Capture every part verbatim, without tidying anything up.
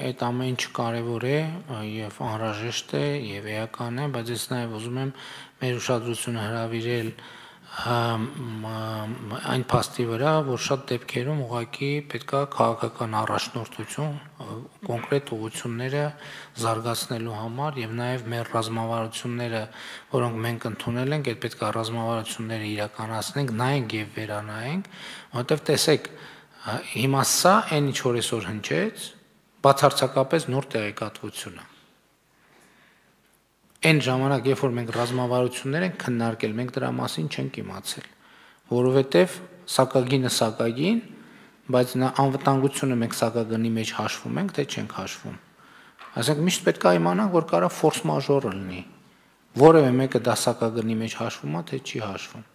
Այդ ամեն ինչ կարևոր է եւ անհրաժեշտ է եւ էական է, բայց ես նաեւ ուզում եմ մեր ուշադրությունը հրավիրել այն փաստի վրա, որ շատ դեպքերում ուղղակի պետքա քաղաքական առաջնորդություն, կոնկրետ ուղղությունները զարգացնելու համար եւ նաեւ մեր ռազմավարությունները, որոնք մենք ընդունել ենք, այդ պետքա ռազմավարությունները իրականացնենք, նայենք եւ վերանայենք, որովհետեւ տեսեք, հիմա սա այն ինչ որ այսօր հնչեց, բացարձակապես նոր տեղեկատվություն է։ Այն ժամանակ, երբ որ մենք ռազմավարություններ ենք քննարկել, մենք դրա մասին չենք իմացել, որովհետև սակագինը սակագին, բայց նա անվտանգությունը մենք սակագնի մեջ հաշվում ենք, թե չենք հաշվում։ Այսինքն միշտ պետք է իմանանք, որ կարող ֆորս մաժորը լինի, որևէ մեկը դա սակագնի մեջ հաշվում է, թե չի հաշվում։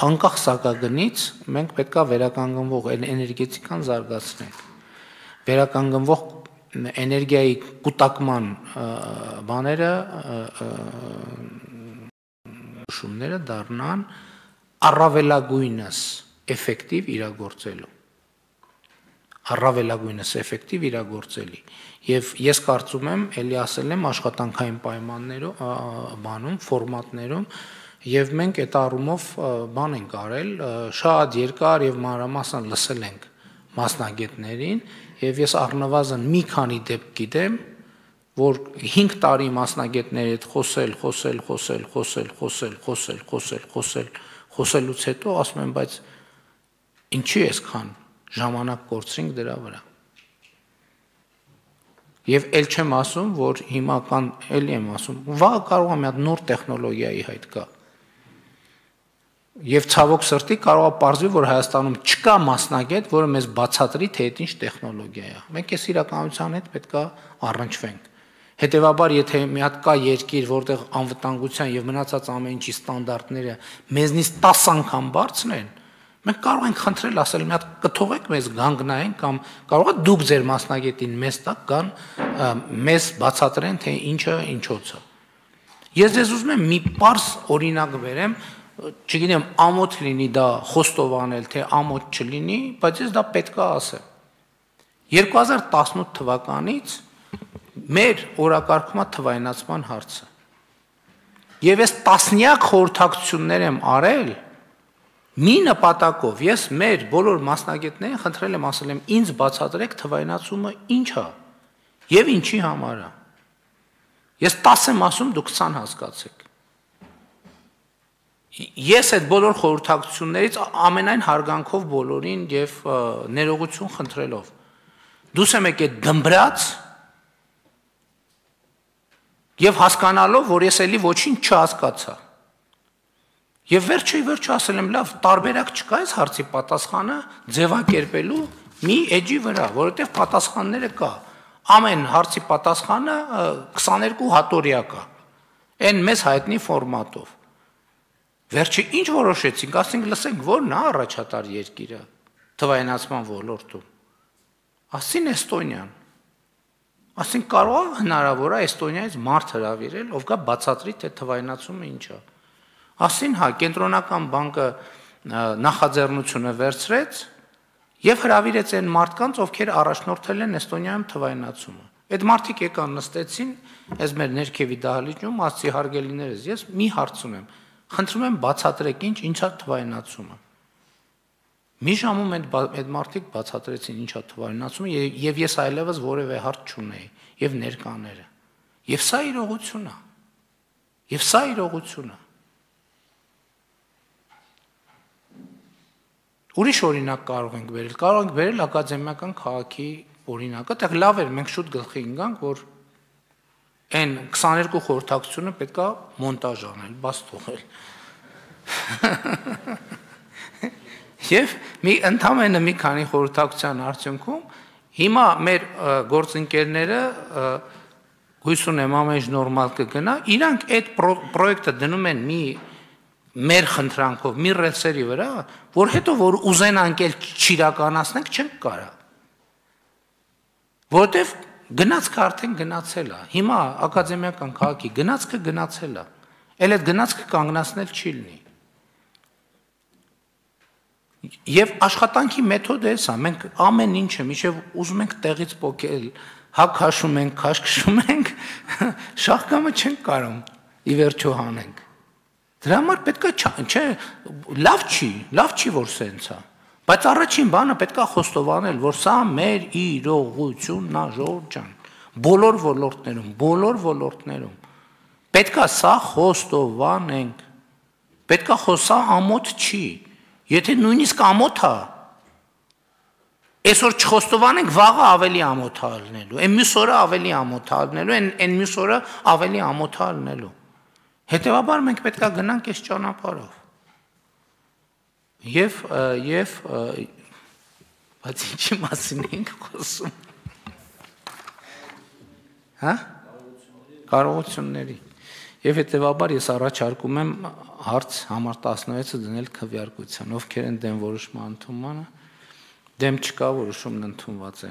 Անկախ սակագնից մենք պետք է վերականգնվող էներգետիկան զարգացնենք։ Վերականգնվող էներգիայի կուտակման բաները շումները դառնան առավելագույնս էֆեկտիվ իրագործելու առավելագույնս էֆեկտիվ իրագործելի եւ ես կարծում եմ ելի ասել եմ աշխատանքային պայմաններում բանում ֆորմատներում եւ մենք այդ առումով բան ենք արել շատ երկար եւ մանրամասն լսել ենք մասնագետներին եւ ես առնվազն մի քանի դեպք գիտեմ, որ հինգ տարի մասնագետների հետ խոսել, խոսել, խոսել, խոսել, խոսել, խոսել, խոսել, խոսել, խոսելուց հետո ասում եմ, բայց ինչի էսքան ժամանակ կորցրինք դրա վրա։ Եվ ել չեմ ասում, որ հիմա կան, էլի եմ ասում, վաղ կարող է մի հատ նոր տեխնոլոգիայի հայտ կա։ Եվ ցավոք սրտի կարող է պարզվի, որ Հայաստանում չկա մասնագետ, որը մեզ բացատրի, թե այդ ինչ տեխնոլոգիա է։ Մենք այս իրականության հետ պետք է առնչվենք։ Հետևաբար, եթե մի հատ կա երկիր, որտեղ անվտանգության եւ մնացած ամեն ինչի ստանդարտները մեզնից տասը անգամ բարձր են, մենք կարող ենք խնդրել ասել, մի հատ կթողեք մեզ գանգնային կամ կարող է դուք ձեր մասնագետին մեզ տակ կան, մեզ բացատրեն, թե ինչը ինչոց է։ Ես ձեզ ուզում եմ մի պարզ օրինակ բերեմ, չգիտեմ, ամոթ լինի դա խոստով անել, թե ամոթ չլինի, բայց ես դա պետք է ասեմ։ երկու հազար տասնութ թվականից մեր օրակարգում է թվայնացման հարցը։ Եվ ես տասնյակ խորհրդակցություններ եմ արել մի նպատակով, ես մեր բոլոր մասնագետներին խնդրել եմ ասել եմ, ինձ բացատրեք թվայնացումը ինչ է եւ ինչի համար է։ Ես տասը եմ ասում, դուք քսան հասկացեք։ Ես այդ բոլոր խորհրդակցություններից ամենայն հարգանքով բոլորին եւ ներողություն խնդրելով դուս եմ եկել դմբրած եւ հասկանալով, որ ես էլի ոչինչ չհասկացա։ Եվ վերջի վերջ ասել եմ, լավ, տարբերակ չկա այս հարցի պատասխանը ձևակերպելու մի էջի վրա, որովհետեւ պատասխանները կա։ Ամեն հարցի պատասխանը քսաներկու հատորյա կա։ Այն մեզ հայտնի ֆորմատով։ Վերջի ինչ որոշեցինք, ասենք լսենք, ո՞րն է առաջատար երկիրը թվայնացման ոլորտում։ Ասին Էստոնիան։ Ասենք կարող է հնարավոր է Էստոնիայից մարդ հրավիրել, ով կա բացատրի, թե թվայնացումը ինչ է։ Ասին հա, կենտրոնական բանկը նախաձեռնությունը վերցրեց եւ հրավիրեց այն մարդկանց, ովքեր առաջնորդել են Էստոնիայում թվայնացումը։ Այդ մարդիկ եկան նստեցին, այս մեր ներքևի դահլիճում, ասի հարգելիներս, ես մի հարց ունեմ։ Խնդրում եմ բացատրեք ինչ, ինչ է թվայնացումը։ Մի ժամում այդ մարդիկ բացատրեցին ինչ է թվայնացումը եւ ես այլևս որևէ հարց չունեի եւ ներկաները։ Եվ սա իրողություն է։ Եվ սա իրողություն է։ Ուրիշ օրինակ կարող ենք բերել, կարող ենք բերել ակադեմիական քաղաքի օրինակը, դեռ լավ էր, մենք շուտ գլխի ընկանք, որ այն քսաներկու խորհրդակցությունը պետք է մոնտաժ անել, բաց թողել։ Եվ մի ընդամենը մի քանի խորհրդակցության արդյունքում հիմա մեր գործընկերները հույս ունեմ ամեն ինչ նորմալ կգնա, իրանք այդ պրոյեկտը դնում են մի մեր խնդրանքով, մի ռելսերի վրա, որ հետո որ ուզենանք էլ չիրականացնենք, չենք կարա։ Որովհետև գնացքը արդեն գնացել է։ Հիմա ակադեմիական քաղաքի գնացքը գնացել է։ Էլ այդ գնացքը կանգնացնել չի լինի։ Եվ աշխատանքի մեթոդը է սա, մենք ամեն ինչը միշտ ուզում ենք տեղից պոկել, հա քաշում ենք, քաշ քշում ենք, շահկամը չենք կարող ի վերջո հանենք։ Դրա համար պետք է չէ, լավ չի, լավ չի որ սենց է, բայց առաջին բանը պետք է խոստովանել, որ սա մեր իրողությունն է, ժողովուրդ ջան, բոլոր ոլորտներում, բոլոր ոլորտներում պետք է սա խոստովանենք, պետք է խոսա ամոթ չի, եթե նույնիսկ ամոթ է, այսօր չխոստովանենք, վաղը ավելի ամոթ է ալնելու, այն մյուս օրը ավելի ամոթ է ալնելու, այն մյուս օրը ավելի ամոթ է ալնելու։ Հետևաբար մենք պետք է գնանք այս ճանապարհով։ Եվ եւ բայց ինչի մասին ենք խոսում։ Հա? Կարողությունների։ Եվ հետևաբար ես առաջարկում եմ հարց համար տասնվեցը դնել քվեարկության, ովքեր են դեմ որոշման ընդունմանը, դեմ չկա, որոշումն ընդունված է։